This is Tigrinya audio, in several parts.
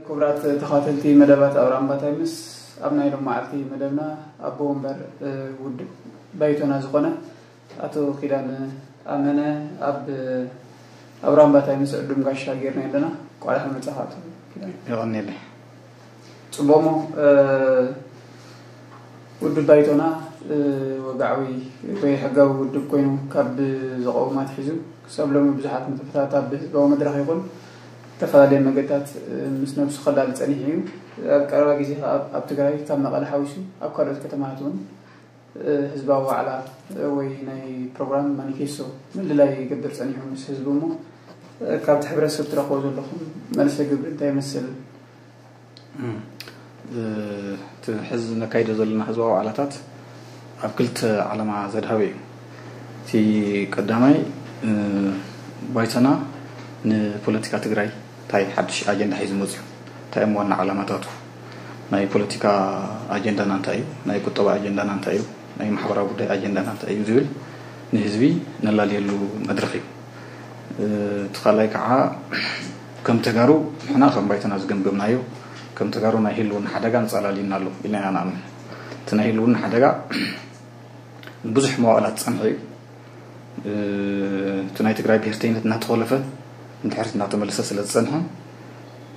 ክቡራት ተኸታተልቲ መደባት ኣውራምባ ታይምስ፣ ኣብ ናይ ሎም መዓልቲ መደብና ኣቦ ወንበር ውድብ ባይቶና ዝኾነ ኣቶ ኪዳን ኣመነ ኣብ ኣውራምባ ታይምስ ዕዱም ጋሻ ጌርና ኣለና። ቋልሕ መጻኻ ኣቶ ኪዳን። የቐንየለይ። ጽቡቕሞ ውድብ ባይቶና ወግዓዊ ወይ ሕጋዊ ውድብ ኮይኑ ካብ ዝቐውም ኣትሒዙ ክሳብ ሎሚ ብዙሓት ንጥፈታት ኣብ ህዝባዊ መድረኽ ይኹን ዝተፈላለየ መገድታት ምስ ነብሱ ከላሊ ጸኒሑ እዩ። ኣብ ቀረባ ግዜ ከኣ ኣብ ትግራይ ካብ መቐለ ሓዊሱ ኣብ ካልኦት ከተማታት እውን ህዝባዊ ዋዕላ ወይ ናይ ፕሮግራም ማኒፌስቶ ምልላይ ይገብር ጸኒሑ ምስ ህዝቡ። እሞ ካብቲ ሕብረተሰብ ትረኽቦ ዘለኹም መልሰ ግብሪ እንታይ ይመስል? እቲ ሕዚ ነካይዶ ዘለና ህዝባዊ ዋዕላታት ኣብ ክልተ ዓላማ ዘድሃበ እዩ። እቲ ቀዳማይ ባይቶና ንፖለቲካ ትግራይ እንታይ ሓድሽ ኣጀንዳ ሒዙ መፅዩ፣ እንታይ እዮም ዋና ዓላማታቱ፣ ናይ ፖለቲካ ኣጀንዳና እንታይ እዩ፣ ናይ ቁጠባ ኣጀንዳና እንታይ እዩ፣ ናይ ማሕበራዊ ጉዳይ ኣጀንዳና እንታይ እዩ ዝብል ንህዝቢ ነላልየሉ መድረኽ እዩ። እቲ ካልኣይ ከዓ ከም ተጋሩ ንሕና ከም ባይቶና ዝገምገምናዮ ከም ተጋሩ ናይ ህልውና ሓደጋ ንፀላል ኢና ኣሎ ኢልና ኢና ንኣምን። እቲ ናይ ህልውና ሓደጋ ንብዙሕ መዋእላት ዝፀንሐ እዩ። እቲ ናይ ትግራይ ብሄርተይነት እናተኾለፈ እንድሕር እናተመለሰ ስለ ዝፀንሐ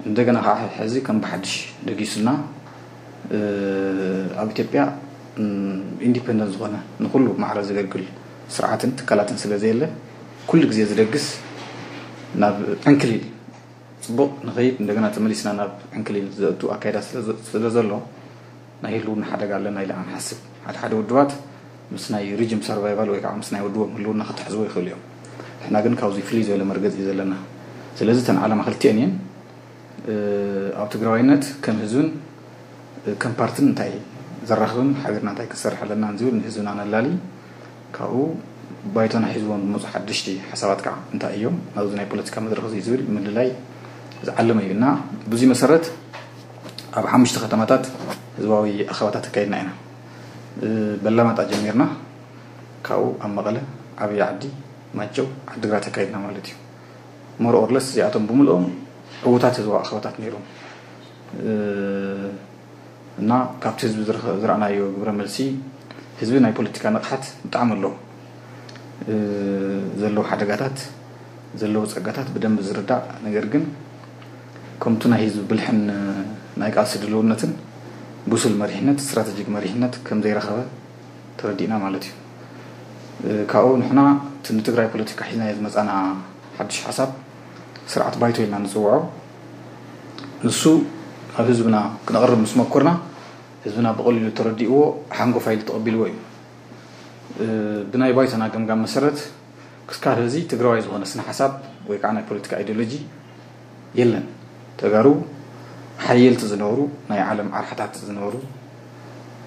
እንደገና ከዓ ሕዚ ከም ብሓድሽ ደጊሱና ኣብ ኢትዮጵያ ኢንዲፐንደንት ዝኾነ ንኩሉ ማዕረ ዘገልግል ስርዓትን ትካላትን ስለ ዘየለ ኩሉ ግዜ ዝደግስ ናብ ዕንክሊል ፅቡቕ ንኸይድ እንደገና ተመሊስና ናብ ዕንክሊል ዘእቱ ኣካይዳ ስለ ዘሎ ናይ ህልውና ሓደጋ ኣለና ኢለ ኣንሓስብ። ሓደ ሓደ ውድባት ምስ ናይ ሪጅም ሰርቫይቫል ወይ ከዓ ምስ ናይ ውድቦም ህልውና ክተሕዝዎ ይኽእሉ እዮም። ንሕና ግን ካብዚ ፍልይ ዝበለ መርገፂ እዩ ዘለና። ስለዚ እተን ዓላማ ክልቲአን እየን። ኣብ ትግራዋይነት ከም ህዝብን ከም ፓርትን እንታይ ዘራኽብን ሓቢርና እንታይ ክንሰርሕ ኣለና ዝብል ንህዝብና ነላሊ ካብኡ ባይቶና ሒዝዎም ዝመፁ ሓደሽቲ ሓሳባት ከዓ እንታይ እዮም ናብዚ ናይ ፖለቲካ መድረኽ እዚ ዝብል ምልላይ ዝዓለመ እዩ እና ብዙ መሰረት ኣብ ሓሙሽተ ከተማታት ህዝባዊ ኣኸባታት ኣካይድና ኢና። በላማጣ ጀሚርና ካብኡ ኣብ መቐለ፣ ዓብዪ ዓዲ፣ ማይጨው፣ ዓዲግራት ኣካይድና ማለት እዩ። ሞር ኦርለስ እዚኣቶም ብምልኦም ዕዉታት ህዝባዊ ኣኸባታት ነይሮም። እና ካብቲ ህዝቢ ዝረኣናዮ ግብረ መልሲ ህዝቢ ናይ ፖለቲካ ንቕሓት ብጣዕሚ ኣለዎ። ዘለዎ ሓደጋታት ዘለዎ ፀጋታት ብደንቢ ዝርዳእ ነገር ግን ከምቱ ናይ ህዝቢ ብልሕን ናይ ቃልሲ ድልውነትን ብሱል መሪሕነት ስትራተጂክ መሪሕነት ከም ዘይረኸበ ተረዲእና ማለት እዩ። ካብኡ ንሕና እቲ ንትግራይ ፖለቲካ ሒዝናዮ ዝመፃና ሓድሽ ሓሳብ ስርዓት ባይቶ ኢልና ንፅውዖ ንሱ ናብ ህዝብና ክነቕርብ ምስ መኮርና ህዝብና ብቐሊሉ ተረዲእዎ ሓንጎፋ ኢሉ ተቐቢልዎ እዩ። ብናይ ባይቶና ገምጋም መሰረት ክስካብ ሕዚ ትግራዋይ ዝኾነ ስነ ሓሳብ ወይ ከዓ ናይ ፖለቲካ ኣይዲዮሎጂ የለን። ተጋሩ ሓየልቲ ዝነበሩ ናይ ዓለም ዓርሓታት ዝነበሩ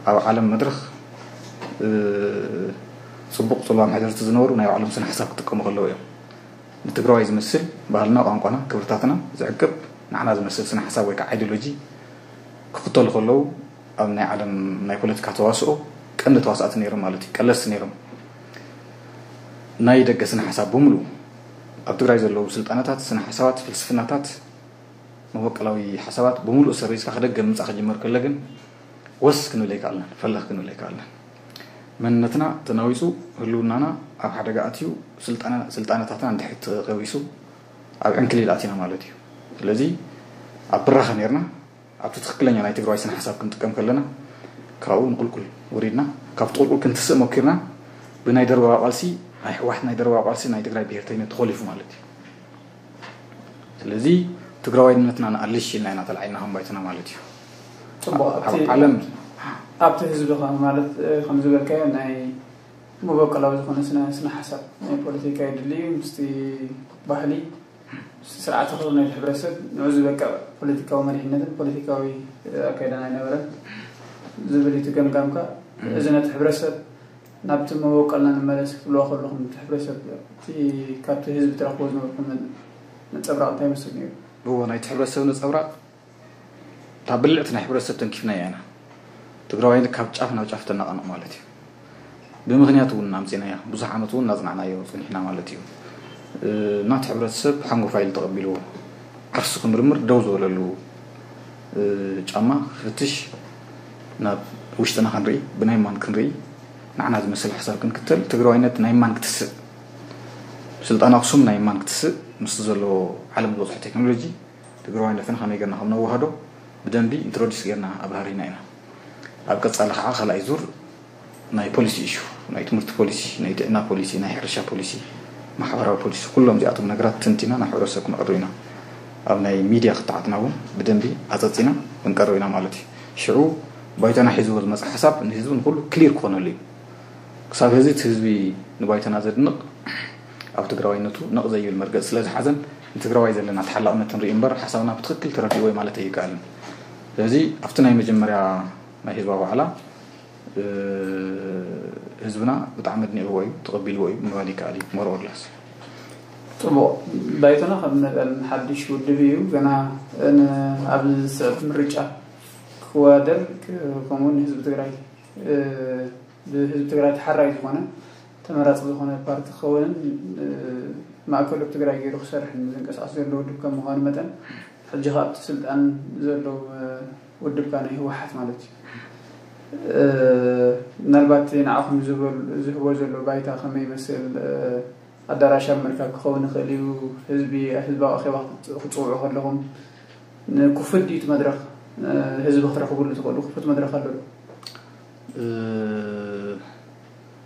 ኣብ ዓለም መድረኽ ፅቡቕ ፅልዋ መሕደርቲ ዝነበሩ ናይ ባዕሎም ስነ ሓሳብ ክጥቀሙ ከለዉ እዮም። ንትግራዋይ ዝመስል ባህልና፣ ቋንቋና፣ ክብርታትና ዝዕቅብ ንዓና ዝመስል ስነ ሓሳብ ወይ ከዓ ኣይዲዮሎጂ ክኽተሉ ከለዉ ኣብ ናይ ዓለም ናይ ፖለቲካ ተዋስኦ ቀንዲ ተዋሳእቲ ነይሮም ማለት እዩ። ቀለስቲ ነይሮም። ናይ ደገ ስነ ሓሳብ ብምሉኡ ኣብ ትግራይ ዘለዉ ስልጣነታት፣ ስነ ሓሳባት፣ ፍልስፍናታት፣ መበቀላዊ ሓሳባት ብምሉኡ ሰሪዝካ ክደገ ምምፃእ ክጅመር ከሎ ግን ወስ ክንብል ኣይከኣልናን፣ ፈለኽ ክንብል ኣይከኣልናን። መንነትና ተናዊፁ፣ ህልውናና ኣብ ሓደጋ ኣትዩ፣ ስልጣነ- ስልጣነታትና እንድሕር ተቐቢሱ ኣብ ዕንክሊል ኣቲና ማለት እዩ። ስለዚ ኣብ ብራኸ ነይርና ኣብቲ ትኽክለኛ ናይ ትግራዋይ ስነ ሓሳብ ክንጥቀም ከለና ካብኡ ንቁልቁል ወሪድና ካብቲ ቁልቁል ክንትስእ ሞኪርና ብናይ ደርባዊ ቃልሲ ናይ ሕዋሕት ናይ ደርባዊ ቃልሲ ናይ ትግራይ ብሄርተይነት ተኾሊፉ ማለት እዩ። ስለዚ ትግራዋይነትና ንኣልሽ ኢልና ኢና ተላዒልና ከም ባይቶና ማለት እዩ። ፅቡቕ ኣብ ኣብቲ- ዓለም ኣብቲ ህዝቢ ከ- ማለት እ፣ ከም ዝበልካዮ ናይ መበቀላዊ ዝኾነ ስነ ስነ ሓሳብ ናይ ፖለቲካ የድሊ እዩ ምስቲ ባህሊ ምስቲ ስርዓተ ክብሪ ናይቲ ሕብረተሰብ ንዑ ዝበቅዕ ፖለቲካዊ መሪሕነትን ፖለቲካዊ እ፣ ኣካይዳን ኣይነበረን ዝብል እዩ እቲ ገምጋምካ። እዚ ነቲ ሕብረተሰብ ናብቲ መበቆልና ንመለስ ክትብልዎ ከለኹም፣ እቲ ሕብረተሰብ፣ እቲ ካብቲ ህዝቢ ትረኽቦ ዝነበርኩም ነጸብራቕ እንታይ ይመስል ነይሩ? እዎ፣ ናይቲ ሕብረተሰብ ነጸብራቕ እታ ብልዕቲ ናይ ሕብረተሰብ ተንኪፍናያ ኢና። ትግራዋይ ካብ ጫፍ ናብ ጫፍ ተነቓንቕ ማለት እዩ። ብምኽንያት እውን ኣምጺናያ፣ ብዙሕ ዓመት እውን እናጽናዕናዮ ጸኒሕና ማለት እዩ። ናቲ ሕብረተሰብ ሓንጎፋ ኢሉ ተቐቢልዎ፣ ዓርሱ ክምርምር ደው ዝበለሉ ጫማ ክፍትሽ፣ ናብ ውሽጥና ክንርኢ፣ ብናይ ማን ክንርኢ፣ ንዓና ዝመስል ሓሳብ ክንክተል፣ ትግራዋይነት ናይ ማን ክትስእ፣ ስልጣን ኣኽሱም ናይ ማን ክትስእ፣ ምስቲ ዘሎ ዓለም ዝበፅሖ ቴክኖሎጂ ትግራዋይነትና ከመይ ጌርና ከም ነዋህዶ ብደንቢ ኢንትሮዲስ ጌርና ኣብራህሪና ኢና። ኣብ ቀጻሊ ከዓ ካልኣይ ዙር ናይ ፖሊሲ ኢሹ፣ ናይ ትምህርቲ ፖሊሲ፣ ናይ ጥዕና ፖሊሲ፣ ናይ ሕርሻ ፖሊሲ፣ ማሕበራዊ ፖሊሲ፣ ኩሎም እዚኣቶም ነገራት ተንቲና ናብ ሕብረተሰብ ክነቕርብ ኢና። ኣብ ናይ ሚድያ ክትዓትና እውን ብደንቢ ኣፀፂና ክንቀርብ ኢና ማለት እዩ። ሽዑ ባይቶና ሒዝዎ ዝመፀ ሓሳብ ንህዝቢ ንኩሉ ክሊር ክኾነሉ እዩ። ክሳብ ሕዚ እቲ ህዝቢ ንባይቶና ዘድንቕ ኣብ ትግራዋይነቱ ነቕ ዘይብል መርገፂ ስለ ዝሓዘን ንትግራዋይ ዘለና ተሓላቕነት ንርኢ እምበር ሓሳብና ብትኽክል ተረዲእዎ ማለት ኣይከኣልን። ስለዚ ኣብቲ ናይ መጀመርያ ናይ ህዝባዊ ዋዕላ ህዝብና ብጣዕሚ ኣድኒቕዎ እዩ፣ ተቐቢልዎ እዩ ምባል ይከኣል እዩ። ሞሮርላስ ጽቡቕ። ባይቶና ከም መጠን ሓድሽ ውድብ እዩ። ገና ኣብ ዝስዕብ ምርጫ ክወዳደር፣ ከምኡውን ህዝቢ ትግራይ ብህዝቢ ትግራይ ተሓራይ ዝኾነ ተመራፂ ዝኾነ ፓርቲ ክኸውንን ማእከሉ ኣብ ትግራይ ገይሩ ክሰርሕን ዝንቀሳቐስ ዘሎ ውድብ ከም ምዃኑ መጠን፣ ሕጂ ካብ እቲ ስልጣን ዘሎ ውድብ ከኣ ናይ ህወሓት ማለት እዩ። ምናልባት እቲ ንዓኹም ዝህቦ ዘሎ ባይታ ከመይ ይመስል? ኣዳራሽ ኣብ ምርካብ ክኸውን ይኽእል እዩ። ህዝቢ፣ ህዝባዊ ኣኼባ ክጽውዑ ከለኹም ንክፉት ድዩ እቲ መድረኽ? ህዝቢ ክትረኽብሉ ትኽእሉ ክፉት መድረኽ ኣሎ ዶ?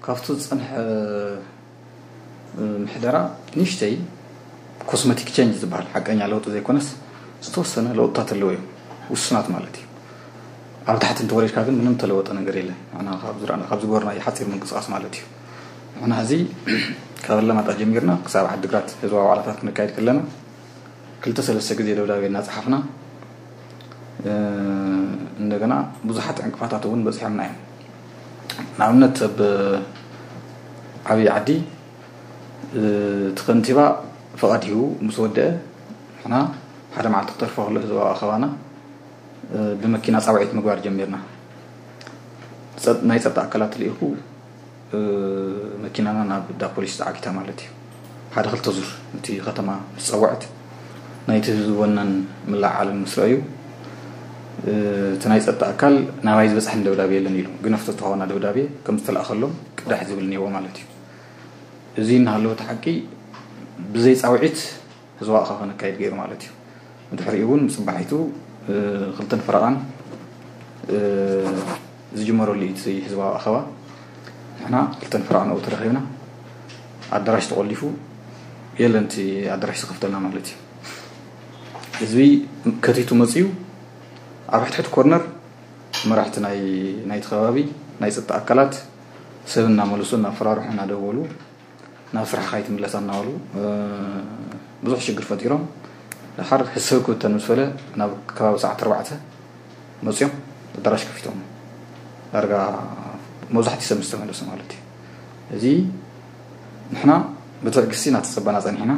ካብቲ ዝጸንሐ ምሕደራ ንእሽተይ ኮስመቲክ ቸንጅ ዝበሃል ሓቀኛ ለውጢ ዘይኮነስ ዝተወሰነ ለውጥታት ኣለዎ እዮም፣ ውሱናት ማለት እዩ። ኣብ ታሕቲ እንተወሪድካ ግን ምንም ተለወጠ ነገር የለን። ንሕና ካብ ዝረኣና፣ ካብ ዝገበርናዮ ሓፂር ምንቅስቃስ ማለት እዩ። ንሕና ሕዚ ካብ ኣለማጣ ጀሚርና ክሳብ ዓዲግራት ህዝባዊ ዋዕላታት ክነካይድ ከለና ክልተ ሰለስተ ግዜ ደብዳቤ እናፀሓፍና እንደገና ብዙሓት ዕንቅፋታት እውን በፂሖምና እዮም። ንኣብነት ኣብ ዓብዪ ዓዲ እቲ ከንቲባ ፍቓድ ሂቡ ምስ ወደአ ንሕና ሓደ መዓልቲ ክተርፎ ከሎ ህዝባዊ ኣኸባና ብመኪና ፃውዒት ምግባር ጀሚርና። ናይ ፀጥታ ኣካላት ልኢኹ መኪናና ናብ ዳ ፖሊስ ተዓጊታ ማለት እዩ። ሓደ ክልተ ዙር እቲ ከተማ ምስ ፀወዐት ናይቲ ህዝቢ ወነን ምልዓልን ምስ ረኣዩ እቲ ናይ ፀጥታ ኣካል ናባይ ዝበፅሐን ደብዳቤ የለን ኢሉ ግነፍቶ ዝተሃወና ደብዳቤ ከም ዝተለኣኸሎም ቅዳሕ ዝብል እኒአዎ ማለት እዩ። እዚ እናሃለወ እቲ ሓቂ ብዘይ ፃውዒት ህዝባዊ ኣኻባ ነካይድ ገይሩ ማለት እዩ። ብድሕሪኡ እውን ምፅባሒቱ ክልተን ፈረቓን ዝጅመረሉ እዩ እቲ ህዝባዊ ኣኻባ። ንሕና ክልተን ፈረቓን ኣብኡ ተረኺብና ኣዳራሽ ተቆሊፉ የለን እቲ ኣዳራሽ ዝኸፍተልና ማለት እዩ። ህዝቢ ከቲቱ መፅዩ ኣብ ሕድሕድ ኮርነር መራሕቲ ናይ ናይቲ ከባቢ ናይ ፀጥታ ኣካላት ሰብ እናመለሱ እናፈራርሑ እናደወሉ ናብ ስራሕኻ ኣይትምለስ እናበሉ ብዙሕ ሽግር ፈጢሮም። ድሓር ህሰብ ክብተን ምስ በለ ናብ ከባቢ ሰዓት ኣርባዕተ መፅዮም ኣዳራሽ ከፊቶም ዳርጋ መብዛሕትኡ ሰብ ምስ ተመለሰ ማለት እዩ። እዚ ንሕና ብትዕግስቲ እናተፀበና ፀኒሕና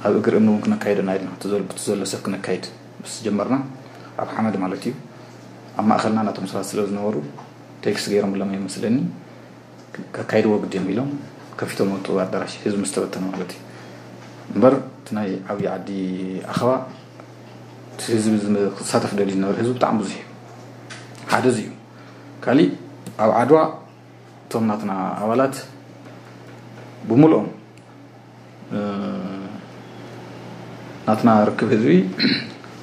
ኣብ እግሪ እምኒ እውን ክነካይዶ ኢና ኢልና ብቲ ዘሎ ሰብ ክነካይድ ምስ ጀመርና ኣብ ሓመድ ማለት እዩ ኣብ ማእኸልና ናቶም ሰባት ስለ ዝነበሩ ቴክስት ገይሮምሎም እዮም መስለኒ። ከካይድዎ ግዲ እዮም ኢሎም ከፊቶም ወጡ ኣዳራሽ ህዝቢ ምስ ተበተነ ማለት እዩ። እምበር እቲ ናይ ዓብዪ ዓዲ ኣኸባ እቲ ህዝቢ ክሳተፍ ደልዩ ዝነበረ ህዝቢ ብጣዕሚ ብዙሕ እዩ። ሓደ እዚ እዩ። ካሊእ ኣብ ዓድዋ እቶም ናትና ኣባላት ብምልኦም ናትና ርክብ ህዝቢ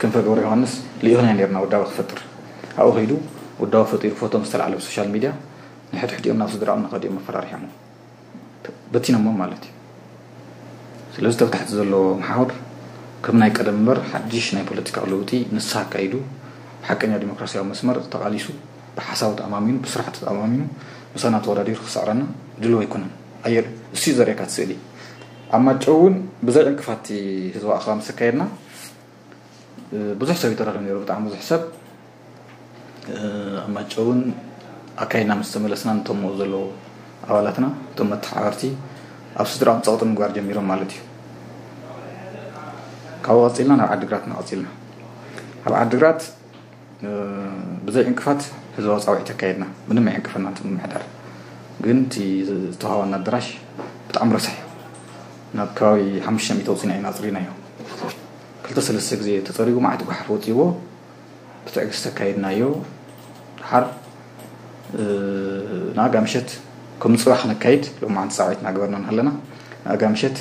ክንፈ ገብረ ዮሃንስ ልኢኽና ነርና ውዳበ ክፈጥር ኣብኡ ከይዱ ውዳበ ፈጢሩ ፎቶ ምስ ተላዕለ ብሶሻል ሚድያ ንሕድሕዲኦም ናብ ስድራኦም እናኸዲኦም መፈራሪሖሞ በቲኖሞ ማለት እዩ። ስለዚ ተብታሕቲ ዘሎ መሓውር ከም ናይ ቀደም እምበር ሓድሽ ናይ ፖለቲካዊ ለውጢ ንስሓ ኣካይዱ ብሓቀኛ ዲሞክራሲያዊ መስመር ተቓሊሱ ብሓሳቡ ተኣማሚኑ ብስራሕቲ ተኣማሚኑ ምሳና ተወዳዲሩ ክስዕረና ድልው ኣይኮነን። ኣየር እሱ ዘርእካ እቲ ስእሊ ኣብ ማጨው እውን ብዘይ ዕንቅፋት ህዝባዊ ኣኸባ ምስ ኣካየድና ብዙሕ ሰብ ይተረኸብ ነይሩ። ብጣዕሚ ብዙሕ ሰብ ኣብ ማጨውን ኣካይድና ምስ ተመለስና፣ ነቶም ኣብኡ ዘለዉ ኣባላትና፣ እቶም መተሓባበርቲ፣ ኣብ ስድራኦም ጸቕጢ ምግባር ጀሚሮም ማለት እዩ። ካብኡ ቀጺልና ናብ ዓዲግራትና ቀጺልና። ኣብ ዓዲግራት ብዘይ ዕንቅፋት ህዝባዊ ጻውዒት ኣካየድና። ምንም ኣይዕንቅፈናን እቲ ምምሕዳር። ግን እቲ ዝተዋህበና ኣዳራሽ ብጣዕሚ ረሳሕ እዩ። ናብ ከባቢ ሓሙሽተ ሚእቲ ኣውጺና ኢና ኣጽሪናዮ። ክልተ ሰለስተ ግዜ ተጸሪጉ፣ መዓት ጓሓፍ ወጺዎ። ብትዕግስቲ ኣካየድናዮ። ድሓር ንኣጋ ምሸት ከም ንጽባሕ ነካይድ፣ ሎማዓንቲ ጻውዒት እናገበርና እናሃለና ንኣጋ ምሸት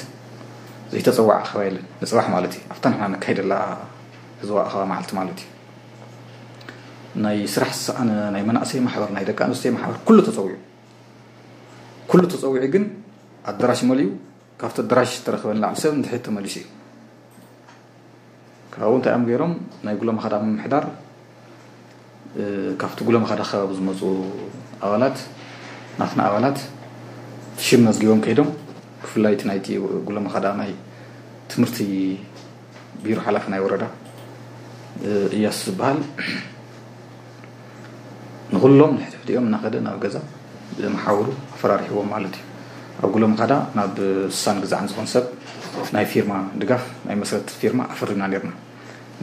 ዘይተጸዋዕ ኣኸባ የለን። ንጽባሕ ማለት እዩ፣ ኣብታ ንሕና ነካይደላ ህዝባዊ ኣኸባ መዓልቲ ማለት እዩ። ናይ ስራሕ ዝሰኣነ ናይ መናእሰይ ማሕበር፣ ናይ ደቂ ኣንስትዮ ማሕበር፣ ኩሉ ተጸዊዑ። ኩሉ ተጸዊዑ፣ ግን ኣዳራሽ መሊኡ፣ ካብቲ ኣዳራሽ ዝተረኸበ ንላዕሊ ሰብ ንድሕሪት ተመሊሱ እዩ። ካብኡ እንታይ እዮም ገይሮም? ናይ ጉለመኻዳ ምምሕዳር፣ እ፣ ካብቲ ጉለመኻዳ ከባቢ ዝመጹ ኣባላት፣ ናትና ኣባላት ሽም መዝጊቦም ከይዶም፣ ብፍላይ እቲ ናይቲ ጉለመኻዳ ናይ ትምህርቲ ቢሮ ሓላፊ ናይ ወረዳ፣ እ፣ እያሱ ዝበሃል፣ ንኹሎም ንሕድሕዲኦም እናኸደ ናብ ገዛ ብመሓውሩ ኣፈራሪሕዎም ማለት እዩ። ኣብ ጉለመኻዳ ናብ ስሳን ግዛዕን ዝኾን ሰብ ናይ ፊርማ ድጋፍ፣ ናይ መስረት ፊርማ ኣፈሪምና ነርና።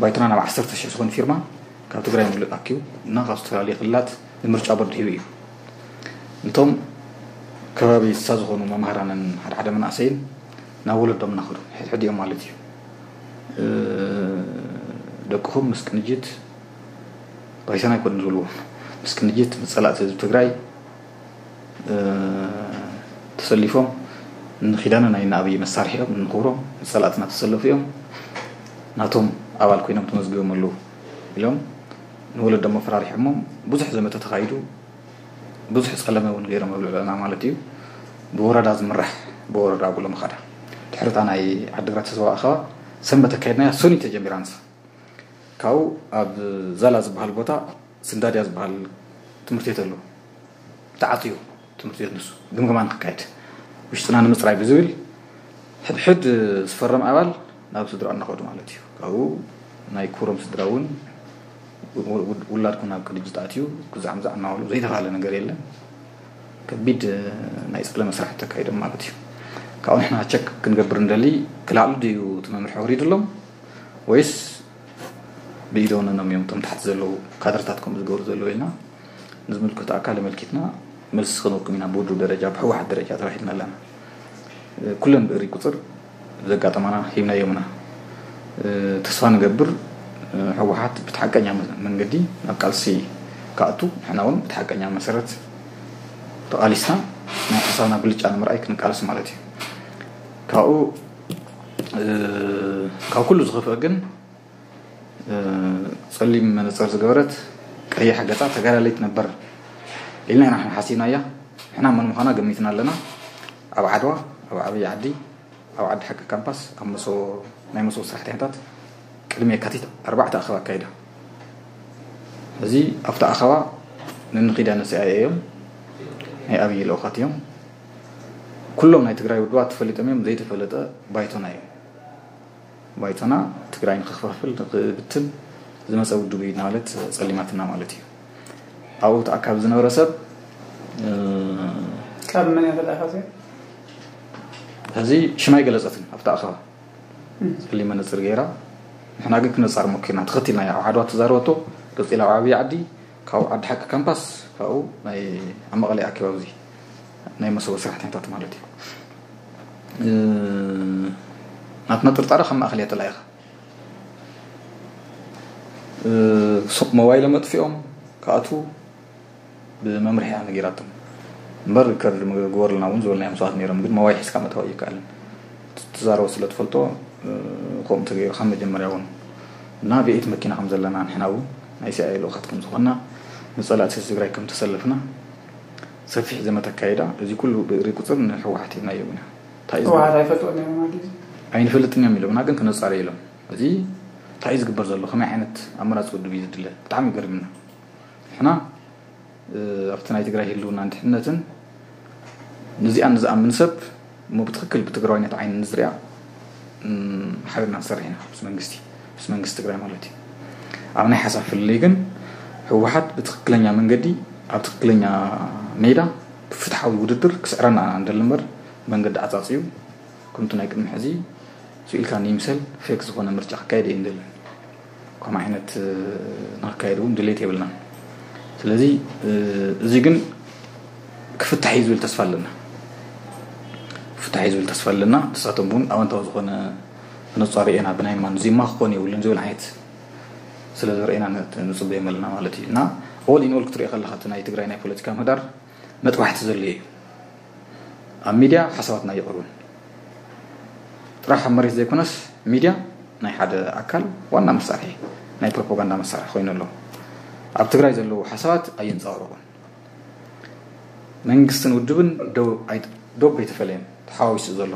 ባይቶና ናብ ዓሰርተ ሽሕ ዝኾን ፊርማ ካብ ትግራይ ሙሉእ ኣኪቡ እና ካብ ዝተፈላለዩ ክልላት ንምርጫ ቦርድ ሂቡ እዩ። እቶም ከባቢ ስሳ ዝኾኑ መምሃራንን ሓደ ሓደ መናእሰይን ናብ ወለዶም እናኸዱ፣ ሕድሕዲኦም ማለት እዩ። እ፣ ደቅኹም ምስ ቅንጅት ባይቶና ኣይኮኑን ዝብልዎም። ምስ ቅንጅት፣ ምስ ጸላእቲ ህዝቢ ትግራይ፣ እ፣ ተሰሊፎም፣ ንኪዳነ ናይ እነ ኣብይ መሳርሒ እዮም፣ ንኽብሮም፣ ንጸላእትና ተሰለፉ እዮም፣ ናቶም ኣባል ኮይኖም ተመዝጊቦም ኣለዉ ኢሎም ንወለዶም ኣፈራሪሖሞም። ብዙሕ ዘመተ ተኻይዱ፣ ብዙሕ ጸለመ እውን ገይሮም ኣብ ልዕለና ማለት እዩ። ብወረዳ ዝምራሕ፣ ብወረዳ ጉለመኻዳ። ድሕሪ እታ ናይ ዓዲግራት ህዝባዊ ኣኸባ ሰንበት ኣካየድናያ፣ ሰኑይ ተጀሚራ ንሳ። ካብኡ ኣብ ዛላ ዝበሃል ቦታ ስንዳድያ ዝበሃል ትምህርቲ ቤት ኣሎ። ተዓፅዩ ትምህርቲ ቤት ንሱ ግምገማ ንክካየድ፣ ውሽጥና ንምፅራይ ብዝብል ሕድሕድ ዝፈረም ኣባል ናብ ስድራኡ እናኸዱ ማለት እዩ። ካብኡ ናይ ኩሮም ስድራ እውን ው-፣ ው-፣ ውላድኩም ናብ ቅንጅት ኣትዩ ግዛዕ ምዛዕ እናበሉ ዘይተኻለ ነገር የለን። ከቢድ ናይ ጸለመ ስራሕ ተካይዶም ማለት እዩ። ካብኡ ንሕና ቸክ ክንገብር እንደሊ፣ ክላዕሉ ድዩ እቲ መምርሒ ወሪድሎም ወይስ ብኢደ ወነኖም እዮም እቶም ታሕቲ ዘለዉ ካድርታት ከምኡ ዝገብሩ ዘለዉ ኢልና ንዝምልከቶ ኣካል ኣመልኪትና መልሲ ክንወኩም ኢና። ብውድብ ደረጃ፣ ብህወሓት ደረጃ ተባሂልና ኣለና። ኩለን ብእሪ ቁፅር ዘጋጠማና ሂብናዮም ኢና። ተስፋ ንገብር ህወሓት ብቲ ሓቀኛ መንገዲ ናብ ቃልሲ ክኣቱ፣ ንሕና እውን ብቲ ሓቀኛ መሰረት ተቓሊስና ናይ ሓሳብና ብልጫ ንምርኣይ ክንቃለስ ማለት እዩ። ካብኡ፣ ካብ ኩሉ ዝኸፍአ ግን ጸሊም መነጸር ዝገበረት ቀያሕ ገጻ ተጋዳለይት ነበር ኢልና ኢና ንሕና ሓሲብናያ። ንሕና መን ምዃና ገሚትና ኣለና። ኣብ ዓድዋ፣ ኣብ ዓብዪ ዓዲ፣ ኣብ ዓዲ ሓቂ ካምፓስ፣ ኣብ መሶ-፣ ናይ መሶብ ስራሕተኛታት ቅድሚ የካቲት ኣርባዕተ ኣኸባ ኣካይዳ። እዚ ኣብቲ ኣኸባ ንንኺዳነ ሲኣይኤ እዮም፣ ናይ ኣብዪ ልኡኻት እዮም። ኩሎም ናይ ትግራይ ውድባት ተፈሊጦም እዮም፣ ዘይተፈለጠ ባይቶና እዮም። ባይቶና ትግራይ ንክኸፋፍል፣ ንክብትን ዝመፀ ውድብ እዩ እናበለት ፀሊማትና ማለት እዩ። ኣብኡ ተኣካቢ ዝነበረ ሰብ፣ እ፣ ካብ መን እያ ተለኣኻ እዚኣ? ሕዚ ሽማ ኣይገለፀትን ኣብቲ ኣኸባ። እም። ፀሊም መነፅር ገይራ። ንሕና ግን ክነፃር ሞኪርና፣ ተኸቲልና እያ። ኣብ ዓድዋ ተዛረበቶ፣ ቀፂላ ኣብ ዓብዪ ዓዲ፣ ካብኡ ዓዲ ሓቂ ካምፓስ፣ ካብኡ ናይ ኣብ መቐለ ኣኪባ፣ ኣብዚ ናይ መሰቦ ሰራሕተኛታት ማለት እዩ። እ፣ ናትና ጥርጣረ ካብ ማእኸል እያ ተላኢኻ። እ፣ ሶ-፣ ሞባይሎም ኣጥፊኦም ክኣትዉ ብመምርሒ እያ ነጊራቶም። እምበር ሪከርድ ምግበርልና እውን ዝበልናዮም ሰባት ነይሮም፣ ግን ሞባይል ሒዝካ ምእታው ኣይከኣልን። ትዛረቦ ስለ ትፈልጦ፣ እ፣ ከምኡ ተገይሩ ካብ መጀመርያ እውን እና ብኤት መኪና ከም ዘለና፣ ንሕና እውን ናይ ሲኣይኤ ልኡኻት ከም ዝኾንና፣ ንጸላእቲ ህዝቢ ትግራይ ከም ተሰለፍና ሰፊሕ ዘመተ ኣካይዳ። እዚ ኩሉ ብእሪ ቁፅር ንህወሓት ሂብናዮም ኢና። እንታይ እዩ ህወሓት ዝግበር? ኣይፈልጥዎን እዮም ማለት እዩ? ኣይንፈልጥን እዮም ኢሎምና፣ ግን ክነጻሪ ኢሎም። እዚ እንታይ እዩ ዝግበር ዘሎ? ከመይ ዓይነት ኣመራፂ ውድብ እዩ ዝድለ? ብጣዕሚ ይገርምና። ንሕና፣ እ፣ ኣብቲ ናይ ትግራይ ህልውናን ድሕነትን ንዚኣን ንዝኣምን ሰብ እሞ ብትኽክል ብትግራዋይነት ዓይኒ ንዝሪኣ፣ እም፣ ሓቢርና ንሰርሕ ኢና ምስ መንግስቲ፣ ምስ መንግስቲ ትግራይ ማለት እዩ። ኣብ ናይ ሓሳብ ፍልልይ ግን ህወሓት ብትኽክለኛ መንገዲ ኣብ ትክክለኛ ሜዳ ብፍትሓዊ ውድድር ክስዕረና እንደሊ እምበር መንገዲ ዓፃፅዩ ከምቲ ናይ ቅድሚ ሕዚ ስኢልካ ንይምሰል ፌክ ዝኾነ ምርጫ ክካየድ እየ እንደልን። ከምኡ ዓይነት ንክካየድ እውን ድሌት የብልናን። ስለዚ እዚ ግን ክፍታሕ እዩ ዝብል ተስፋ ኣለና። ክፍታሕ እዩ ዝብል ተስፋ ኣለና። ንሳቶም እውን ኣወንታዊ ዝኾነ ነፃ ርእየና ብናይ ማን ዚማ ክኾን የብሉን ዝብል ዓይነት ስለ ዘርእየና ንፅበዮም ኣለና ማለት እዩ። እና ኦል ኢን ኦል ክትሪኦ ከለካ እቲ ናይ ትግራይ ናይ ፖለቲካ ምህዳር መጥባሕቲ ዘድልዮ እዩ። ኣብ ሚድያ ሓሳባትና ይቕርብን ጥራሕ ኣብ መሬት ዘይኮነስ ሚድያ ናይ ሓደ ኣካል ዋና መሳርሒ ናይ ፕሮፓጋንዳ መሳርሒ ኮይኑ ኣሎ። ኣብ ትግራይ ዘለዉ ሓሳባት ኣየንፀባረቑን። መንግስትን ውድብን ዶብ ኣይተፈለየን፣ ተሓዋዊሱ ዘሎ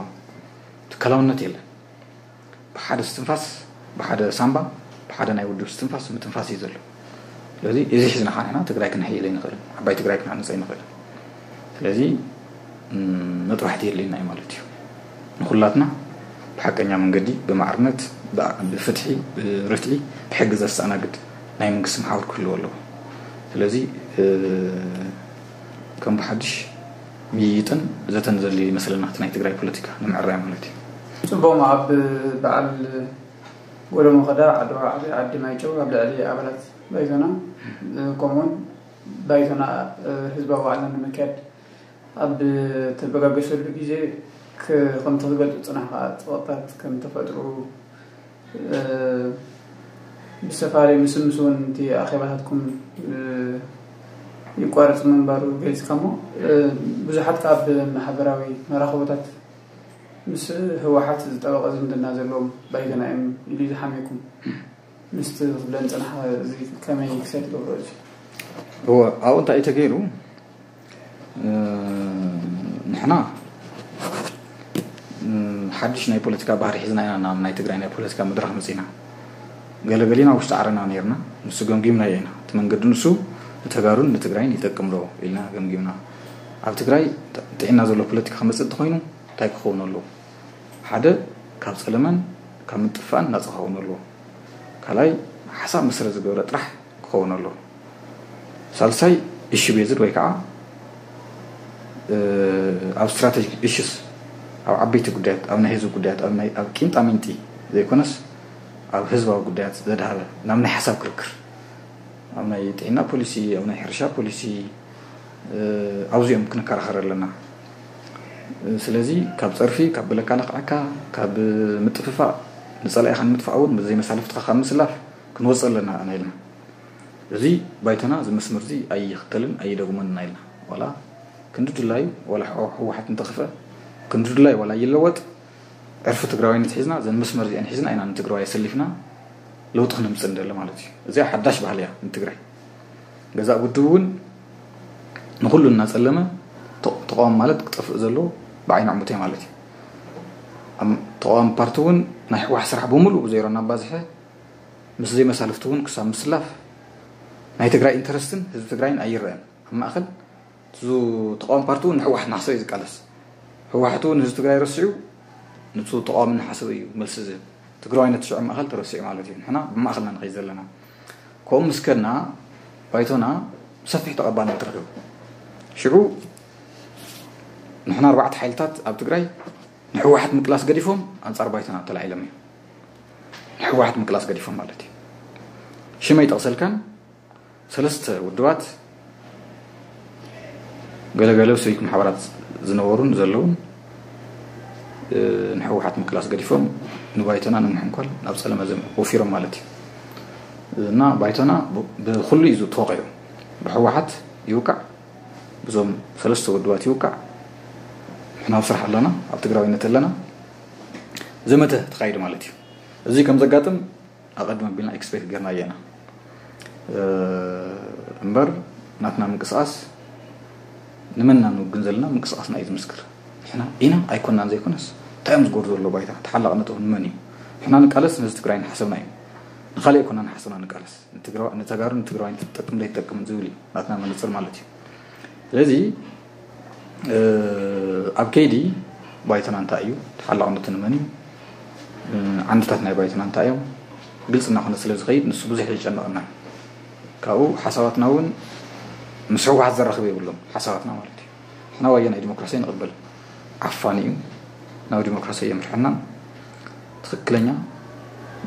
ትካላውነት የለን። ብሓደ ስትንፋስ ብሓደ ሳምባ ብሓደ ናይ ውድብ ስትንፋስ ምትንፋስ እዩ ዘሎ። ስለዚ እዚ ሒዝና ከዓ ንሕና ትግራይ ክንሕይል ኣይንኽእልን፣ ዓባይ ትግራይ ክንሃንፅ ኣይንኽእልን። ስለዚ መጥባሕቲ የድልየና እዩ ማለት እዩ። ንኩላትና ብሓቀኛ መንገዲ ብማዕርነት ብፍትሒ ብርትዒ ብሕጊ ዘስተኣናግድ ናይ መንግስቲ መሓውር ክህልዎ ኣለዎ። ስለዚ ከም ብሓድሽ ምይይጥን ዘተን ዘድልዮ ይመስለና እቲ ናይ ትግራይ ፖለቲካ ንምዕራይ ማለት እዩ። ፅቡቕ ኣብ በዓል ጎለመኸዳ ዓድዋ ዓብይ ዓዲ ማይጨው ኣብ ልዕሊ ኣባላት ባይቶና ከምኡውን ባይቶና ህዝባዊ ዋዕላ ንምክያድ ኣብ ተበጋገሰሉ ግዜ ከምቲ ክገልፁ ፅናሕ ከዓ ፀወታት ከም ተፈጥሩ ብሰፋሪ ምስምስ እውን እቲ ኣኼባታትኩም ይቋረፅ ምንባሩ ገሊፅካ እሞ ብዙሓት ካብ ማሕበራዊ መራኸቦታት ምስ ህወሓት ዝጠበቐ ዝምድና ዘለዎም ባይቶና እዮም ኢሉ ዝሓምየኩም ምስቲ ክብለን ፅናሕ እዚ ከመይ ክሰድ ይገብሮ እዚ እወ ኣብኡ እንታይ እዩ ተገይሩ ንሕና ሓድሽ ናይ ፖለቲካ ባህሪ ሒዝና ኢና ናብ ናይ ትግራይ ናይ ፖለቲካ መድረኽ መፂና ገለገሊና ውሽጢ ዓረና ነርና ንሱ ገምጊምና ኢና እቲ መንገዲ ንሱ ንተጋሩን ንትግራይን ይጠቅም ዶ ኢልና ገምጊምና ኣብ ትግራይ ጥዕና ዘሎ ፖለቲካ ክመፅእ እንተኮይኑ እንታይ ክኸውን ኣለዎ ሓደ ካብ ፀለመን ካብ ምጥፋእን ናፃ ክኸውን ኣለዎ ካልኣይ ሓሳብ መሰረት ዝገበረ ጥራሕ ክኸውን ኣለዎ ሳልሳይ ኢሹ ቤዝድ ወይ ከዓ ኣብ ስትራቴጂክ ኢሹስ ኣብ ዓበይቲ ጉዳያት ኣብ ናይ ህዝቢ ጉዳያት ኣብ ቂንጣ ሚንጢ ዘይኮነስ ኣብ ህዝባዊ ጉዳያት ዘድሃበ ናብ ናይ ሓሳብ ክርክር ኣብ ናይ ጥዕና ፖሊሲ ኣብ ናይ ሕርሻ ፖሊሲ ኣብዚኦም ክንከራኸር ኣለና ስለዚ ካብ ፀርፊ ካብ ብለካ ለክዓካ ካብ ምጥፍፋእ ንፀላኢኻ ንምጥፋእ እውን ብዘይ መሳልፍትኻ ካብ ምስላፍ ክንወፅእ ኣለና ኢና ኢልና እዚ ባይቶና እዚ መስመር እዚ ኣይኽተልን ኣይደግሞን ኢና ኢልና ዋላ ክንዲ ድላዩ ዋላ ህወሓት እንተኽፍአ ክንዲ ድላዩ ዋላ ይለወጥ ዕርፊ ትግራዋይነት ሒዝና ዘን መስመር እዚአን ሒዝና ኢና ንትግራዋይ ኣሰሊፍና ለውጢ ክነምፅእ እንደለ ማለት እዩ እዚኣ ሓዳሽ ባህሊ እያ ንትግራይ ገዛእ ውድብ እውን ንኩሉ እናፀለመ ተቃዋሚ ማለት ክጠፍእ ዘለዎ ብዓይኒ ዕሙተይ ማለት እዩ ተቃዋሚ ፓርቲ እውን ናይ ህወሓት ስራሕ ብምሉእ ብዜሮ እናባዝሐ ምስ ዘይመሳልፍቲ እውን ክሳብ ምስላፍ ናይ ትግራይ ኢንተረስትን ህዝቢ ትግራይን ኣይረአን ኣብ ማእኸል እቱ ተቃዋሚ ፓርቲ እውን ንህወሓት እናሓሰበ እዩ ዝቃለስ ህወሓት እውን ህዝቢ ትግራይ ረሲዑ ንቱ ተቃዋሚ እናሓሰበ እዩ መልሲ ዝህብ ትግራዋይነት ሽዑ ማእኸል ተረሲዑ ማለት እዩ ንሕና ብማእኸልና ንኸይድ ዘለና ከምኡ ምስ ከድና ባይቶና ሰፊሕ ተቐባልነት ረኺቡ ሽዑ ንሕና ኣርባዕተ ሓይልታት ኣብ ትግራይ ንሕወሓት ምቅላስ ገዲፎም ኣንፃር ባይቶና ተላዒሎም እዮም ንሕወሓት ምቅላስ ገዲፎም ማለት እዩ ሽመይ ጠቕሰልካን ሰለስተ ውድባት ገለገለ ሲቪክ ማሕበራት ዝነበሩን ዘለውን ንሕወሓት ምቅላስ ገዲፎም ንባይቶና ንምሕንኳል ናብ ፀለመ ወፊሮም ማለት እዩ እና ባይቶና ብኩሉ እዩ ተወቂዑ ብሕወሓት ይውቃዕ ብዞም ሰለስተ ውድባት ይውቃዕ ንሕና ኣብ ስራሕ ኣለና ኣብ ትግራዊነት ኣለና ዘመተ ተካይዱ ማለት እዩ እዚ ከም ዘጋጥም ኣቐድም ኣቢልና ኤክስፔክት ጌርናዮ ኢና እምበር ናትና ምንቅስቃስ ንመን ኢና ንውግን ዘለና ምንቅስቃስና እዩ ዝምስክር ንሕና ኢና ኣይኮናን ዘይኮነስ እንታይ እዮም ዝገብሩ ዘሎ ባይታ ተሓላቕነቶም ንመን እዩ ንሕና ንቃለስ ነዚ ትግራይ ንሓሰብና እዩ ንካሊእ ኣይኮና ንሓሰብና ንቃለስ ንተጋሩ ንትግራዋይ ትጠቅም ዘይትጠቅም ዝብል እዩ ናትና መነፅር ማለት እዩ ስለዚ ኣብ ከይዲ ባይቶና እንታይ እዩ ተሓላቕነቱ ንመን እዩ ዓንድታት ናይ ባይቶና እንታይ እዮም ግልፂ እናኾነ ስለ ዝኸይድ ንሱ ብዙሕ የጨንቐና ካብኡ ሓሳባትና እውን ምስ ህወሓት ዘራኽብ የብሎም ሓሳባትና ማለት እዩ። ንሕና ዋየ ናይ ዲሞክራሲ ንቕበል፣ ዓፋኒ እዩ፣ ናብ ዲሞክራሲ የምርሐናን ትኽክለኛ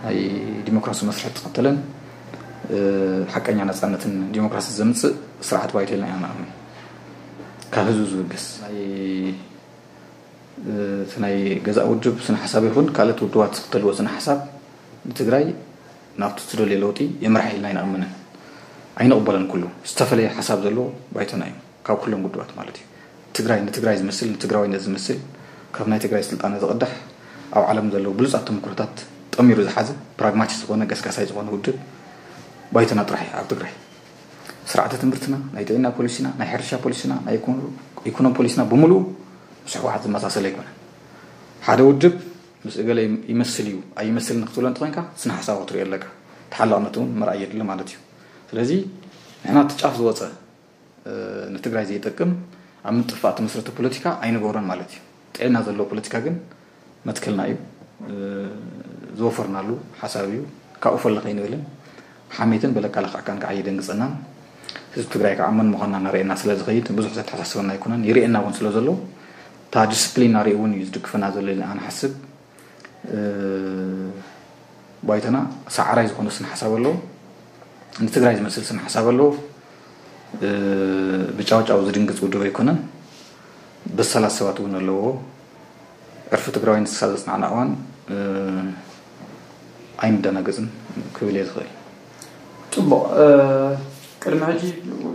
ናይ ዲሞክራሲ መስርሕ ተኸተለን ሓቀኛ ነፃነትን ዲሞክራሲ ዘምፅእ ስርዓት ባይቶ ኢልና ኢና ንኣምን። ካብ ህዝቢ ዝብገስ ናይ እቲ ናይ ገዛእ ውድብ ስነ ሓሳብ ይኹን ካልኦት ውድባት ዝኽተልዎ ስነ ሓሳብ ንትግራይ ናብቲ ትደልዮ ለውጢ የምርሓ ኢልና ኣይንኣምንን፣ ኣይንቕበለን። ኩሉ ዝተፈለየ ሓሳብ ዘለዎ ባይቶና እዩ፣ ካብ ኩሎም ውድባት ማለት እዩ። ትግራይ ንትግራይ ዝመስል፣ ንትግራዋይነት ዝመስል፣ ካብ ናይ ትግራይ ስልጣነ ዝቕዳሕ፣ ኣብ ዓለም ዘለዉ ብሉፃት ተመክሮታት ጠሚሩ ዝሓዘ ፕራግማቲስት ዝኾነ ገስጋሳይ ዝኾነ ውድብ ባይቶና ጥራሕ እዩ ኣብ ትግራይ። ስርዓተ ትምህርትና፣ ናይ ጥዕና ፖሊሲና፣ ናይ ሕርሻ ፖሊሲና፣ ናይ ኢኮኖሚ ፖሊሲና ብምሉኡ ምስ ህወሓት ዝመሳሰል ኣይኮነን። ሓደ ውድብ ምስ እገለ ይመስል እዩ ኣይመስልን ክትብሎ እንተኾይንካ ስነ ሓሳብ ክትሪኦ ኣለካ። ተሓላቕነት እውን ምርኣይ የድሊ ማለት እዩ። ስለዚ ንሕና እቲ ጫፍ ዝወፀ ንትግራይ ዘይጠቅም ኣብ ምጥፋእ ተመስረተ ፖለቲካ ኣይንገብሮን ማለት እዩ። ጥዕና ዘለዎ ፖለቲካ ግን መትከልና እዩ። ዝወፈርናሉ ሓሳብ እዩ። ካብኡ ፈለ ከይንብልን ሓሜትን በለካ ለኽዕካን ከዓ የደንግፀናን ህዝቢ ትግራይ ከዓ መን ምዃንና እናርእየና ስለ ዝኸይድ ብዙሕ ዘተሓሳስበና ኣይኮነን። ይርእየና እውን ስለ ዘሎ እታ ዲስፕሊን ናርእኡ እውን እዩ ዝድግፈና ዘሎ ኢልና ንሓስብ። ባይቶና ሰዓራይ ዝኾነ ስነ ሓሳብ ኣለዎ። ንትግራይ ዝመስል ስነ ሓሳብ ኣለዎ። ብጫውጫው ዝድንግፅ ውድብ ኣይኮነን። በሳላት ሰባት እውን ኣለዎ። ዕርፊ ትግራዋይ ንስሳ ዘፅናዕና እዋን ኣይንደናገፅን ክብል እየ ዝኽእል። ፅቡቕ። ቅድሚ ሕጂ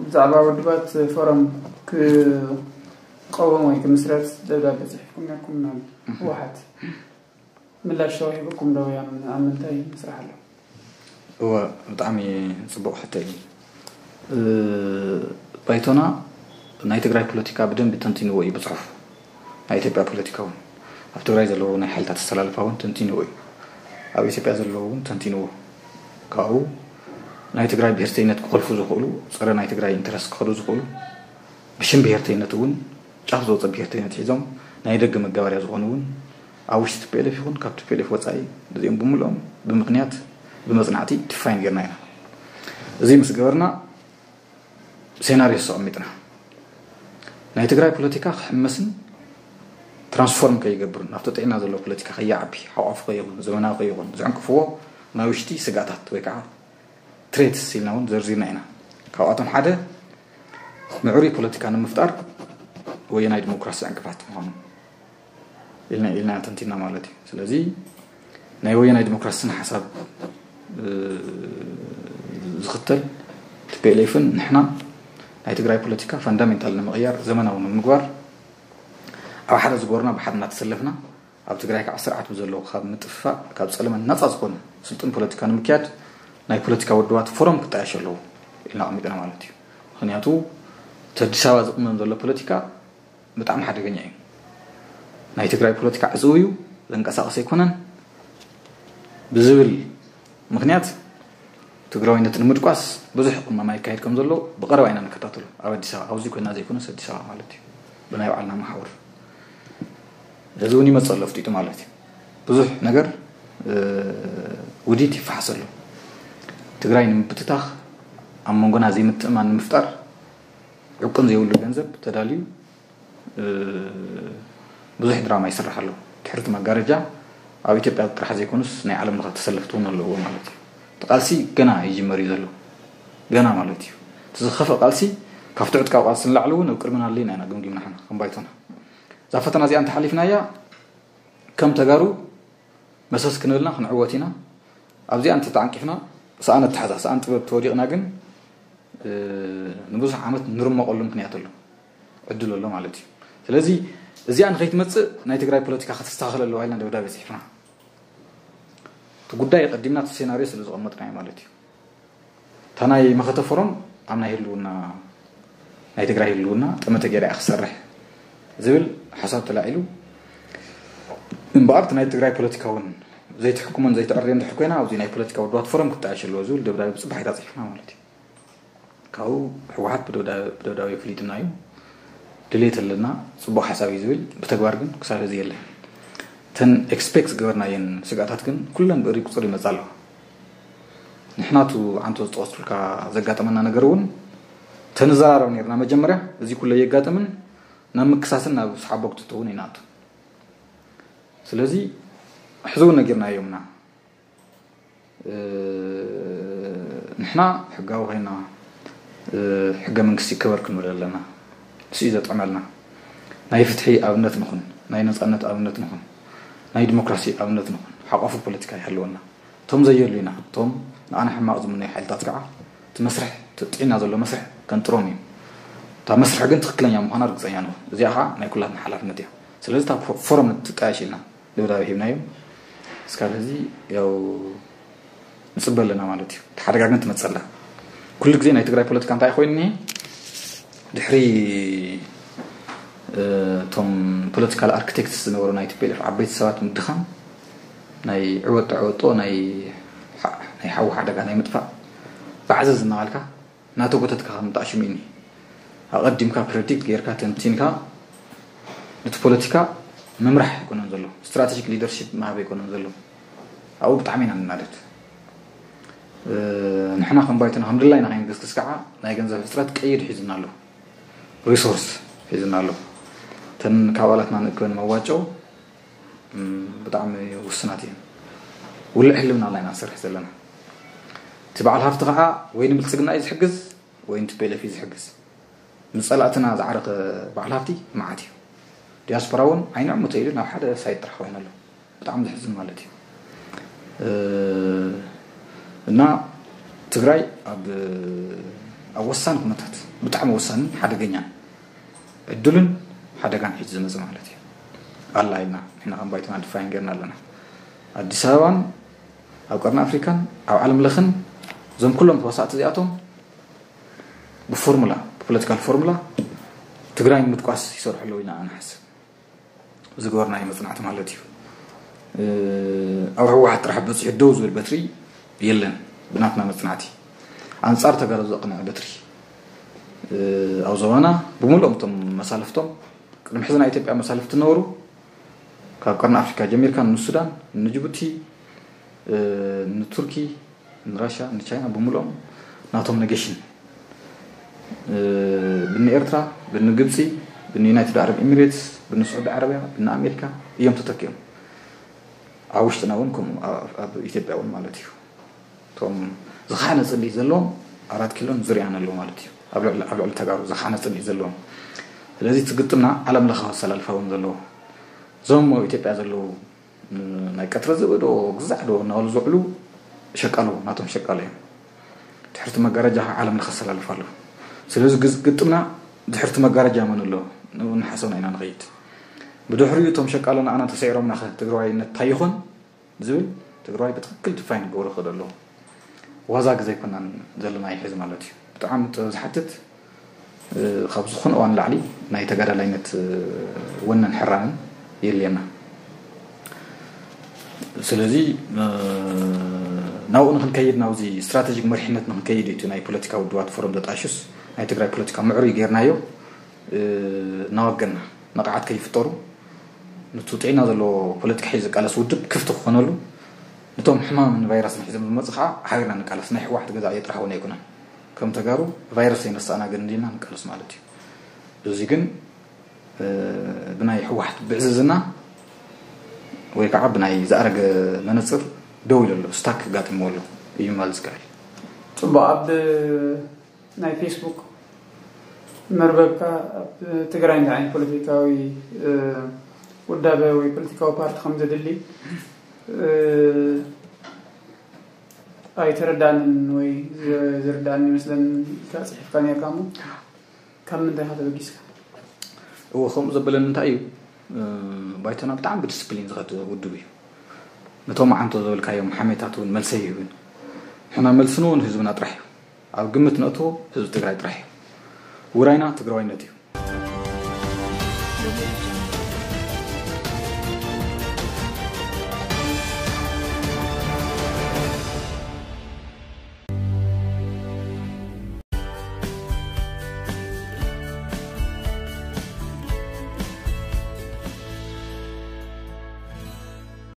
ብዛዕባ ውድባት ፎረም ክቐወም ወይ ክምስረት ደብዳቤ ፅሒፍኩም ነርኩም ናብ ህወሓት ምላሽ ተዋሂብኩም ዶ? ኣብ ምንታይ ምስራሕ ኣሎ? እወ፣ ብጣዕሚ ፅቡቕ ሕቶ እዩ። ባይቶና ናይ ትግራይ ፖለቲካ ብደንቢ ተንቲንዎ እዩ ብፅሑፍ። ናይ ኢትዮጵያ ፖለቲካ እውን ኣብ ትግራይ ዘለዉ ናይ ሓይልታት ኣሰላልፋ እውን ተንቲንዎ እዩ። ኣብ ኢትዮጵያ ዘለዉ እውን ተንቲንዎ። ካብኡ ናይ ትግራይ ብሄርተይነት ክኸልፉ ዝኽእሉ፣ ፀረ ናይ ትግራይ ኢንተረስት ክኸዱ ዝኽእሉ፣ ብሽም ብሄርተይነት እውን ጫፍ ዝወፀ ብሄርተይነት ሒዞም ናይ ደገ መጋበርያ ዝኾኑ እውን ኣብ ውሽጢ ቲፒኤልኤፍ ይኹን ካብ ቲፒኤልኤፍ ወፃኢ እዚኦም ብምልኦም ብምኽንያት ብመፅናዕቲ ዲፋይን ጌርና ኢና። እዚ ምስ ገበርና ሴናሪዮ ኣቐሚጥና ናይ ትግራይ ፖለቲካ ክሕመስን ትራንስፎርም ከይገብርን ናብቲ ጥዕና ዘለዎ ፖለቲካ ከይዓቢ ሓቋፉ ከይኹን ዘመናዊ ከይኹን ዝዕንቅፍዎ ናይ ውሽጢ ስጋታት ወይ ከዓ ትሬትስ ኢልና እውን ዘርዚርና ኢና። ካብኣቶም ሓደ ምዕሩይ ፖለቲካ ንምፍጣር ወየናይ ዲሞክራሲ ዕንቅፋት ምዃኑ ኢልና ኢልና ተንቲና ማለት እዩ። ስለዚ ናይ ወየናይ ዲሞክራሲ ስነ ሓሳብ ዝኽተል ቲፒኤልኤፍን ንሕና ናይ ትግራይ ፖለቲካ ፋንዳሜንታል ንምቕያር ዘመናዊ ንምግባር ኣብ ሓደ ዝጎርና ብሓደ እናተሰለፍና ኣብ ትግራይ ከዓ ስርዓት ብዘለዎ ካብ ምጥፍፋእ ካብ ፀለመ ናፃ ዝኾነ ስልጡን ፖለቲካ ንምክያድ ናይ ፖለቲካ ውድባት ፎረም ክጣየሽ ኣለዎ ኢልና ኣቐሚጥና ማለት እዩ። ምክንያቱ እቲ ኣዲስ ኣበባ ዝቕመም ዘሎ ፖለቲካ ብጣዕሚ ሓደገኛ እዩ። ናይ ትግራይ ፖለቲካ ዕፅው እዩ፣ ዘንቀሳቕስ ኣይኮነን ብዝብል ምክንያት ትግራዋይነት ንምድቋስ ብዙሕ ቅመማ ይካየድ ከም ዘሎ ብቐረባ ኢና ንከታተሎ። ኣብ ኣዲስ ኣበባ ኣብዚ ኮይና ዘይኮነስ ኣዲስ ኣበባ ማለት እዩ ብናይ ባዕልና መሓውር እዚ እውን ይመፅእ ኣሎ ፍጢጡ ማለት እዩ። ብዙሕ ነገር ውዲት ይፈሓስ ኣሎ። ትግራይ ንምብትታኽ ኣብ መንጎና ዘይምትእማን ንምፍጣር ዕቁን ዘይብሉ ገንዘብ ተዳልዩ ብዙሕ ድራማ ይስራሕ ኣሎ። ድሕርቲ መጋረጃ ኣብ ኢትዮጵያ ጥራሕ ዘይኮኑስ ናይ ዓለም ለኸ ተሰለፍቲ እውን ኣለዎ ማለት እዩ። እቲ ቃልሲ ገና ይጅመር እዩ ዘሎ ገና ማለት እዩ። እቲ ዝኸፍእ ቃልሲ ካብቲ ዕጥቃዊ ቃልሲ ንላዕሊ እውን ኣብ ቅድመና ኣለና ኢና ገምጊምና ሓና ከም ባይቶና እዛ ፈተና እዚኣ እንተሓሊፍናያ ከም ተጋሩ መሰስ ክንብልና ክንዕወት ኢና። ኣብዚኣ እንተተዓንቂፍና ሰኣን ኣተሓዛ ሰኣን ጥበብ ተወዲቕና ግን ንብዙሕ ዓመት ንርመቐሉ ምክንያት ኣሎ ዕድል ኣሎ ማለት እዩ። ስለዚ እዚኣ ንኸይትመፅእ ናይ ትግራይ ፖለቲካ ከተስተኻኸል ኣለዋ ኢልና ደብዳቤ ፅሒፍና እቲ ጉዳይ ቀዲምና እቲ ሴናሪዮ ስለ ዝቐመጥናዮ ማለት እዩ። እታ ናይ መኸተ ፎረም ኣብ ናይ ህልውና ናይ ትግራይ ህልውና ጠመተ ገይራ እያ ክሰርሕ ዝብል ሓሳብ ተላዒሉ እምበኣር ናይ ትግራይ ፖለቲካ እውን ዘይትሕኩመን ዘይትዕርዮ እንድሕር ኮይና ኣብዚ ናይ ፖለቲካ ውድባት ፎረም ክጣየሽ ኣለዎ ዝብል ደብዳቤ ብፅባሒታ ፅሒፍና ማለት እዩ። ካብኡ ህወሓት ብደብዳቤ ፍሊጥና እዩ ድሌት ኣለና ፅቡቅ ሓሳብ እዩ ዝብል ብተግባር ግን ክሳብ ሕዚ የለን። እተን ኤክስፔክት ዝገበርናየን ስጋታት ግን ኩለን ብእሪ ቁፅር ይመፃ ኣለዋ። ንሕናቱ ዓንቶ ዝጠቀስኩልካ ዘጋጠመና ነገር እውን እቲ ተንዘራረብ ነርና መጀመርያ። እዚ ኩለ የጋጥምን ናብ ምክሳስን ናብ ሰሓቦ ክትእትውን ይንኣቱ። ስለዚ ሕዚ እውን ነጊርናዮምና። ንሕና ሕጋዊ ኮይና ሕገ መንግስቲ ክበር ክንብል ኣለና። ንሱ እዩ ዘጥዕመልና። ናይ ፍትሒ ኣብነት ንኹን፣ ናይ ነፃነት ኣብነት ንኹን፣ ናይ ዲሞክራሲ ኣብነት ንኹን። ሓቋፉ ፖለቲካ ይሃልወና። እቶም ዘየሉ ኢና። እቶም ንኣና ሕማቕ ዝምነዩ ሓይልታት ከዓ እቲ መስርሕ፣ እቲ ጥዒና ዘሎ መስርሕ ከንጥሮም እዩ። እታ መስርሕ ግን ትክክለኛ ምዃና ርግፀኛ ንኹን። እዚኣ ከዓ ናይ ኩላትና ሓላፍነት እያ። ስለዚ እታ ፎ- ፎረም ንትጣየሽ ኢልና ደብዳቤ ሂብናዮም። እስካብ ሕዚ ያው ንፅበ ኣለና ማለት እዩ። እቲ ሓደጋ ግን ትመፀላ። ኩሉ ግዜ ናይ ትግራይ ፖለቲካ እንታይ ኮይኑ እኒሄ? ድሕሪ እቶም ፖለቲካል ኣርክቴክትስ ዝነበሩ ናይ ቲ ፒ ኤል ኤፍ ዓበይቲ ሰባት ምድኻም፣ ናይ ዕወጦ ዕወጦ ናይ ሓ- ናይ ሓዊ ሓደጋ ናይ ምጥፋእ ባዕዘዝ እናባልካ ናተጎተትካ ምጣሽሙ እዩ። ኣቐዲምካ ፕረዲክት ጌርካ ተንቲንካ ነቲ ፖለቲካ ምምራሕ ኣይኮነን ዘሎ፣ ስትራቴጂክ ሊደርሺፕ ምሃብ ኣይኮነን ዘሎ። ኣብኡ ብጣዕሚ ኢና ንናደድ። ንሕና ከም ባይቶና ከም ድላይና ከይንግስግስ ከዓ ናይ ገንዘብ ሕፅረት ቀይድ ሒዝና ኣሎ፣ ሪሶርስ ሒዝና ኣሎ። እተን ካብ ኣባላትና ንእክበን መዋጮ ብጣዕሚ ውስናት እየን። ውልዕ ህልውና ላይና ንሰርሕ ዘለና። እቲ በዓል ሃፍቲ ከዓ ወይ ንብልፅግና እዩ ዝሕግዝ ወይ ንቲፒኤልኤፍ እዩ ዝሕግዝ። ንፀላእትና ዝዓረኸ በዓል ሃፍቲ መዓት እዩ። ዲያስፖራ እውን ዓይንዕሙ ተይሉ ናብ ሓደ ሳይት ጥራሕ ኮይኑ ኣሎ። ብጣዕሚ ዘሕዝን ማለት እዩ። እና ትግራይ ኣብ ኣብ ወሳኒ ኩነታት፣ ብጣዕሚ ወሳንን ሓደገኛን ዕድልን ሓደጋን ሒዙ ዝመፅእ ማለት እዩ። ኣላ ኢልና ንሕና ከም ባይቶና ድፋይን ገርና ኣለና። ኣዲስ ኣበባን ኣብ ቀርኒ ኣፍሪካን ኣብ ዓለም ለኽን እዞም ኩሎም ተዋሳእቲ እዚኣቶም ብፎርሙላ፣ ብፖለቲካል ፎርሙላ ትግራይ ንምድቋስ ይሰርሑ ኣለዉ ኢና ንሓስብ። ዝገበርናዮ መፅናዕቲ ማለት እዩ። ኣብ ህወሓት ጥራሕ በፂሑ ደው ዝብል በትሪ የለን። ብናትና መፅናዕቲ ኣንፃር ተጋሩ ዘቕንዐ በትሪ ኣብ ዞባና ብምሉኦም እቶም መሳልፍቶም ቅድሚ ሕዚ ናይ ኢትዮጵያ መሳልፍቲ ነበሩ። ካብ ቀርኒ ኣፍሪካ ጀሚርካ ንሱዳን፣ ንጅቡቲ፣ ንቱርኪ፣ ንራሻ፣ ንቻይና ብምሉኦም ናቶም ኔጌሽን ብኒ ኤርትራ፣ ብኒ ግብፂ፣ ብኒ ዩናይትድ ዓረብ ኤሚሬትስ፣ ብኒ ስዑዲ ዓረብያ፣ ብኒ ኣሜሪካ እዮም ተተኪኦም። ኣብ ውሽጥና እውን ከምኡ ኣብ ኢትዮጵያ እውን ማለት እዩ። እቶም ዝኻነ ፅልኢ ዘለዎም ኣራት ኪሎን ዙርያን ኣለዉ ማለት እዩ። ኣብ ልዕሊ ተጋሩ ዝኻነ ፅልኢ ዘለዎም። ስለዚ እቲ ግጥምና ዓለም ለኻዊ ኣሰላልፋ እውን ዘለዎ እዞም ኣብ ኢትዮጵያ ዘለዉ ናይ ቀትሪ ዝበዶ ግዛዕ ዶ እናበሉ ዝውዕሉ ሸቃሎ ናቶም ሸቃሎ እዮም። ድሕርቲ መጋረጃ ዓለም ለኸ ኣሰላልፋ ኣለዉ። ስለዚ ግጥምና ድሕርቲ መጋረጃ መን ኣሎ ንሓሰብና ኢና ንኸይድ። ብድሕሪኡ እቶም ሸቃሎ ንኣና ተሰዒሮምና ኸ ትግራዋይነት እንታይ ይኾን ዝብል ትግራዋይ ብትክክል ድፋይን ክገብሮ ክእል ኣለዎ። ዋዛ ግዜ ኣይኮናን ዘለና ይሕዚ ማለት እዩ። ብጣዕሚ ጥበብ ዝሓትት ካብ ዝኾነ እዋን ላዕሊ ናይ ተጋዳላይነት ወነን ሕራንን የልየና። ስለዚ ናብኡ ንክንከይድ ናብዚ ስትራቴጂክ መሪሕነት ንክንከይድ እዩ ናይ ፖለቲካ ውድባት ፎረም ዘጣሽስ ናይ ትግራይ ፖለቲካ ምዕሩይ ጌርናዮ እናወገና ንቕዓት ከይፍጠሩ ንቱ ጥዕና ዘለዎ ፖለቲካ ሒዙ ዝቃለስ ውድብ ክፍቲ ክኾነሉ ንቶም ሕማምን ቫይረስን ሒዞም ዝመፁ ከዓ ሓቢርና ንቃለስ። ናይ ህወሓት ገዛ እየ ጥራሕ እውን ኣይኮነን። ከም ተጋሩ ቫይረስ ዘይነሳእና ግን እንዲልና ንቃለስ ማለት እዩ። እዚ ግን ብናይ ህወሓት ብዕዝዝና ወይ ከዓ ብናይ ዝኣረገ መነፅር ደው ኢሉ ኣሎ፣ ስታክ ጋጢምዎ ኣሎ እዩ ማለት ዝከኣል። ፅቡቅ ኣብ ናይ ፌስቡክ መርበብካ ኣብ ትግራይ እንታይ ዓይነት ፖለቲካዊ ውዳበ ወይ ፖለቲካዊ ፓርቲ ከም ዘድሊ ኣይተረዳንን ወይ ዝርዳን ይመስለን ኢልካ ፅሒፍካ ነርካ እሞ ካብ ምንታይ ኢካ ተበጊስካ? እዎ ከምኡ ዘበለኒ እንታይ እዩ ባይቶና ብጣዕሚ ብዲስፕሊን ዝኸድ ውድብ እዩ። ነቶም ዓንቶ ዘበልካዮም ሓሜታት እውን መልሰ ይህብን ሕና መልስን እውን ህዝብና ጥራሕ እዩ። ኣብ ግምት ነእትዎ ህዝቢ ትግራይ ጥራሕ እዩ። ውራይና ትግራዋይነት እዩ።